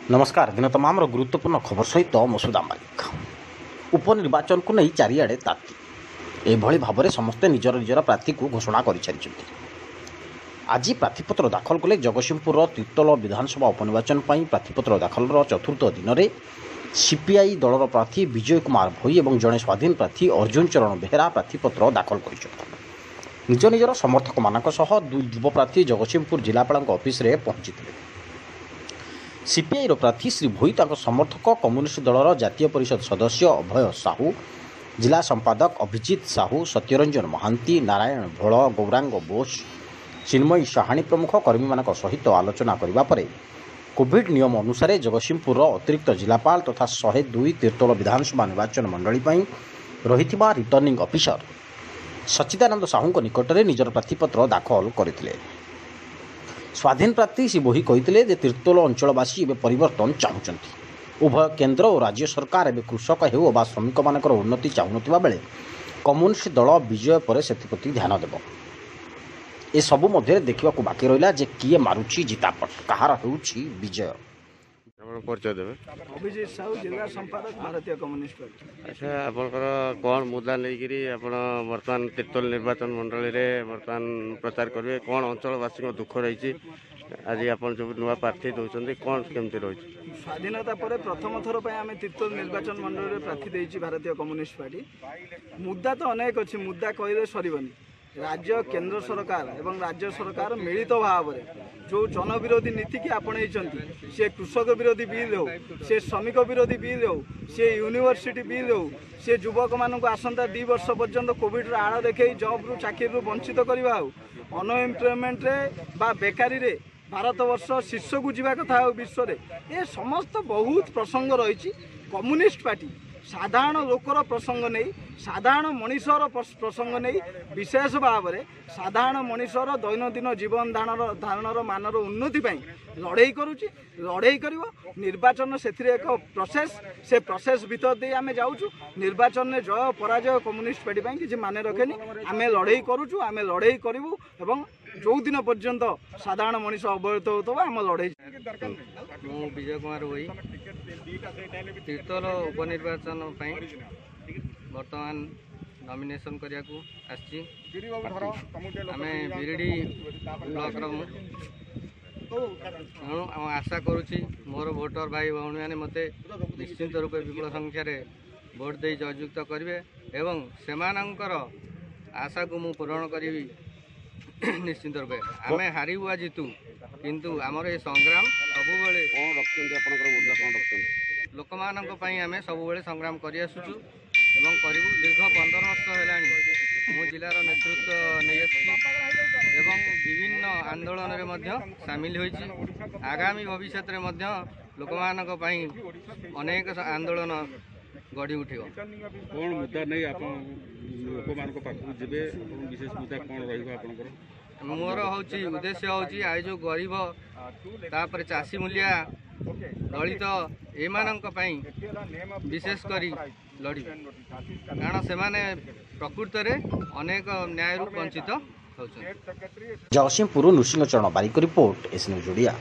ନମସ୍କାର, ଦିନ ତମାମର ଗୁରୁତ୍ୱପୂର୍ଣ୍ଣ ଖବର ସହିତ ମସୁଦା ମାଲିକ। ଉପନିର୍ବାଚନକୁ ନେଇ ଚାରିଆଡ଼େ ତାତି। ଏଭଳି ଭାବରେ ସମସ୍ତେ ନିଜର ନିଜର ପ୍ରାର୍ଥୀକୁ ଘୋଷଣା କରିସାରିଛନ୍ତି। ଆଜି ପ୍ରାର୍ଥୀପତ୍ର ଦାଖଲ କଲେ ଜଗତସିଂହପୁରର ତିର୍ତ୍ତୋଲ ବିଧାନସଭା ଉପନିର୍ବାଚନ ପାଇଁ ପ୍ରାର୍ଥୀପତ୍ର ଦାଖଲର ଚତୁର୍ଥ ଦିନରେ ସିପିଆଇ ଦଳର ପ୍ରାର୍ଥୀ ବିଜୟ କୁମାର ଭୋଇ ଏବଂ ଜଣେ ସ୍ୱାଧୀନ ପ୍ରାର୍ଥୀ ଅର୍ଜୁନ ଚରଣ ବେହେରା ପ୍ରାର୍ଥୀପତ୍ର ଦାଖଲ କରିଛନ୍ତି। ନିଜ ନିଜର ସମର୍ଥକମାନଙ୍କ ସହ ଦୁଇ ଯୁବ ପ୍ରାର୍ଥୀ ଜଗତସିଂହପୁର ଜିଲ୍ଲାପାଳଙ୍କ ଅଫିସରେ ପହଞ୍ଚିଥିଲେ। ସିପିଆଇର ପ୍ରାର୍ଥୀ ଶ୍ରୀ ଭୋଇ ତାଙ୍କ ସମର୍ଥକ କମ୍ୟୁନିଷ୍ଟ ଦଳର ଜାତୀୟ ପରିଷଦ ସଦସ୍ୟ ଅଭୟ ସାହୁ, ଜିଲ୍ଲା ସମ୍ପାଦକ ଅଭିଜିତ ସାହୁ, ସତ୍ୟରଞ୍ଜନ ମହାନ୍ତି, ନାରାୟଣ ଭୋଳ, ଗୌରାଙ୍ଗ ବୋଷ, ଚିନ୍ମୟୀ ସାହାଣୀ ପ୍ରମୁଖ କର୍ମୀମାନଙ୍କ ସହିତ ଆଲୋଚନା କରିବା ପରେ କୋଭିଡ୍ ନିୟମ ଅନୁସାରେ ଜଗତସିଂହପୁରର ଅତିରିକ୍ତ ଜିଲ୍ଲାପାଳ ତଥା 102 ତିର୍ତ୍ତୋଲ ବିଧାନସଭା ନିର୍ବାଚନ ମଣ୍ଡଳୀ ପାଇଁ ରହିଥିବା ରିଟର୍ଣ୍ଣିଂ ଅଫିସର ସଚ୍ଚିଦାନନ୍ଦ ସାହୁଙ୍କ ନିକଟରେ ନିଜର ପ୍ରାର୍ଥୀପତ୍ର ଦାଖଲ କରିଥିଲେ। ସ୍ୱାଧୀନ ପ୍ରାର୍ଥୀ ଶ୍ରୀ ଭୋଇ କହିଥିଲେ ଯେ ତିର୍ତ୍ତୋଲ ଅଞ୍ଚଳବାସୀ ଏବେ ପରିବର୍ତ୍ତନ ଚାହୁଁଛନ୍ତି। ଉଭୟ କେନ୍ଦ୍ର ଓ ରାଜ୍ୟ ସରକାର ଏବେ କୃଷକ ହେଉ ଅବା ଶ୍ରମିକମାନଙ୍କର ଉନ୍ନତି ଚାହୁଁନଥିବା ବେଳେ କମ୍ୟୁନିଷ୍ଟ ଦଳ ବିଜୟ ପରେ ସେଥିପ୍ରତି ଧ୍ୟାନ ଦେବ। ଏସବୁ ମଧ୍ୟରେ ଦେଖିବାକୁ ବାକି ରହିଲା ଯେ କିଏ ମାରୁଛି ଜିତାପଟ, କାହାର ହେଉଛି ବିଜୟ। ଆପଣ ପରିଚୟ ଦେବେ? ଅଭିଜିତ ସାହୁ, ଜିଲ୍ଲା ସମ୍ପାଦକ, ଭାରତୀୟ କମ୍ୟୁନିଷ୍ଟ ପାର୍ଟି। ଆଚ୍ଛା, ଆପଣଙ୍କର କ'ଣ ମୁଦ୍ଦା ନେଇକିରି ଆପଣ ବର୍ତ୍ତମାନ ତିର୍ତ୍ତୋଲ ନିର୍ବାଚନ ମଣ୍ଡଳୀରେ ବର୍ତ୍ତମାନ ପ୍ରଚାର କରିବେ? କ'ଣ ଅଞ୍ଚଳବାସୀଙ୍କ ଦୁଃଖ ରହିଛି? ଆଜି ଆପଣ ଯେଉଁ ନୂଆ ପ୍ରାର୍ଥୀ ଦେଉଛନ୍ତି, କ'ଣ କେମିତି ରହିଛି? ସ୍ୱାଧୀନତା ପରେ ପ୍ରଥମ ଥର ପାଇଁ ଆମେ ତିର୍ତ୍ତୋଲ ନିର୍ବାଚନ ମଣ୍ଡଳୀରେ ପ୍ରାର୍ଥୀ ଦେଇଛି ଭାରତୀୟ କମ୍ୟୁନିଷ୍ଟ ପାର୍ଟି। ମୁଦ୍ଦା ତ ଅନେକ ଅଛି, ମୁଦ୍ଦା କହିଲେ ସରିବନି। ରାଜ୍ୟ କେନ୍ଦ୍ର ସରକାର ଏବଂ ରାଜ୍ୟ ସରକାର ମିଳିତ ଭାବରେ ଯେଉଁ ଜନବିରୋଧୀ ନୀତିକି ଆପଣେଇଛନ୍ତି, ସେ କୃଷକ ବିରୋଧୀ ବିଲ୍ ହେଉ, ସେ ଶ୍ରମିକ ବିରୋଧୀ ବିଲ୍ ହେଉ, ସେ ୟୁନିଭର୍ସିଟି ବିଲ୍ ହେଉ, ସେ ଯୁବକମାନଙ୍କୁ ଆସନ୍ତା 2 ବର୍ଷ ପର୍ଯ୍ୟନ୍ତ କୋଭିଡ଼ର ଆଳ ଦେଖେଇ ଜବ୍ରୁ ଚାକିରିରୁ ବଞ୍ଚିତ କରିବା ହେଉ, ଅନଏମ୍ପ୍ଲୟମେଣ୍ଟରେ ବା ବେକାରୀରେ ଭାରତବର୍ଷ ଶୀର୍ଷକୁ ଯିବା କଥା ହେଉ ବିଶ୍ୱରେ, ଏ ସମସ୍ତ ବହୁତ ପ୍ରସଙ୍ଗ ରହିଛି। କମ୍ୟୁନିଷ୍ଟ ପାର୍ଟି ସାଧାରଣ ଲୋକର ପ୍ରସଙ୍ଗ ନେଇ, ସାଧାରଣ ମଣିଷର ପ୍ରସଙ୍ଗ ନେଇ, ବିଶେଷ ଭାବରେ ସାଧାରଣ ମଣିଷର ଦୈନନ୍ଦିନ ଜୀବନ ଧାରଣର ମାନର ଉନ୍ନତି ପାଇଁ ଲଢ଼େଇ କରୁଛି, ଲଢ଼େଇ କରିବ। ନିର୍ବାଚନ ସେଥିରେ ଏକ ପ୍ରୋସେସ୍, ସେ ପ୍ରୋସେସ୍ ଭିତର ଦେଇ ଆମେ ଯାଉଛୁ। ନିର୍ବାଚନରେ ଜୟ ପରାଜୟ କମ୍ୟୁନିଷ୍ଟ ପାର୍ଟି ପାଇଁ କିଛି ମାନେ ରଖେନି। ଆମେ ଲଢ଼େଇ କରୁଛୁ, ଆମେ ଲଢ଼େଇ କରିବୁ ଏବଂ ଯେଉଁଦିନ ପର୍ଯ୍ୟନ୍ତ ସାଧାରଣ ମଣିଷ ଅବହେଳିତ ହେଉଥିବ ଆମ ଲଢ଼େଇ। ମୁଁ ବିଜୟ କୁମାର ଭୋଇ, ତିର୍ତ୍ତୋଲ ଉପନିର୍ବାଚନ ପାଇଁ ବର୍ତ୍ତମାନ ନମିନେସନ୍ କରିବାକୁ ଆସିଛି। ଆମେ ବିରିଡ଼ି ବ୍ଲକର ମୁଁ, ତେଣୁ ଆଶା କରୁଛି ମୋର ଭୋଟର ଭାଇ ଭଉଣୀମାନେ ମୋତେ ନିଶ୍ଚିନ୍ତ ରୂପେ ବିପୁଳ ସଂଖ୍ୟାରେ ଭୋଟ ଦେଇ ଜୟଯୁକ୍ତ କରିବେ ଏବଂ ସେମାନଙ୍କର ଆଶାକୁ ମୁଁ ପୂରଣ କରିବି ନିଶ୍ଚିନ୍ତ ରୂପେ। ଆମେ ହାରିବୁ ବା ଜିତୁ, କିନ୍ତୁ ଆମର ଏ ସଂଗ୍ରାମ ସବୁବେଳେ। କ'ଣ ରଖିଛନ୍ତି ଆପଣଙ୍କର ମୁଦ୍ଦା, କ'ଣ ରଖିଛନ୍ତି? ଲୋକମାନଙ୍କ ପାଇଁ ଆମେ ସବୁବେଳେ ସଂଗ୍ରାମ କରିଆସୁଛୁ ଏବଂ କରିବୁ। ଦୀର୍ଘ 15 ବର୍ଷ ହେଲାଣି ମୁଁ ଜିଲ୍ଲାର ନେତୃତ୍ୱ ନେଇ ଆସିଛି ଏବଂ ବିଭିନ୍ନ ଆନ୍ଦୋଳନରେ ମଧ୍ୟ ସାମିଲ ହୋଇଛି। ଆଗାମୀ ଭବିଷ୍ୟତରେ ମଧ୍ୟ ଲୋକମାନଙ୍କ ପାଇଁ ଅନେକ ଆନ୍ଦୋଳନ ଗଢ଼ି ଉଠିବ। କ'ଣ ମୁଦ୍ଦା ନେଇ ଆପଣ ଲୋକମାନଙ୍କ ପାଖକୁ ଯିବେ? ଆପଣ ବିଶେଷ ମୁଦ୍ଦା କ'ଣ ରହିବ ଆପଣଙ୍କର? ମୋର ହେଉଛି ଉଦ୍ଦେଶ୍ୟ ହେଉଛି ଆଉ ଯେଉଁ ଗରିବ, ତାପରେ ଚାଷୀ ମୂଲିଆ, ଦଳିତ, ଏମାନଙ୍କ ପାଇଁ ବିଶେଷ କରି ଲଢ଼ିବି, କାରଣ ସେମାନେ ପ୍ରକୃତରେ ଅନେକ ନ୍ୟାୟରୁ ବଞ୍ଚିତ ହେଉଛନ୍ତି। ଜଗତସିଂହପୁରରୁ Nrusingha Charan Barik report, S news Odia.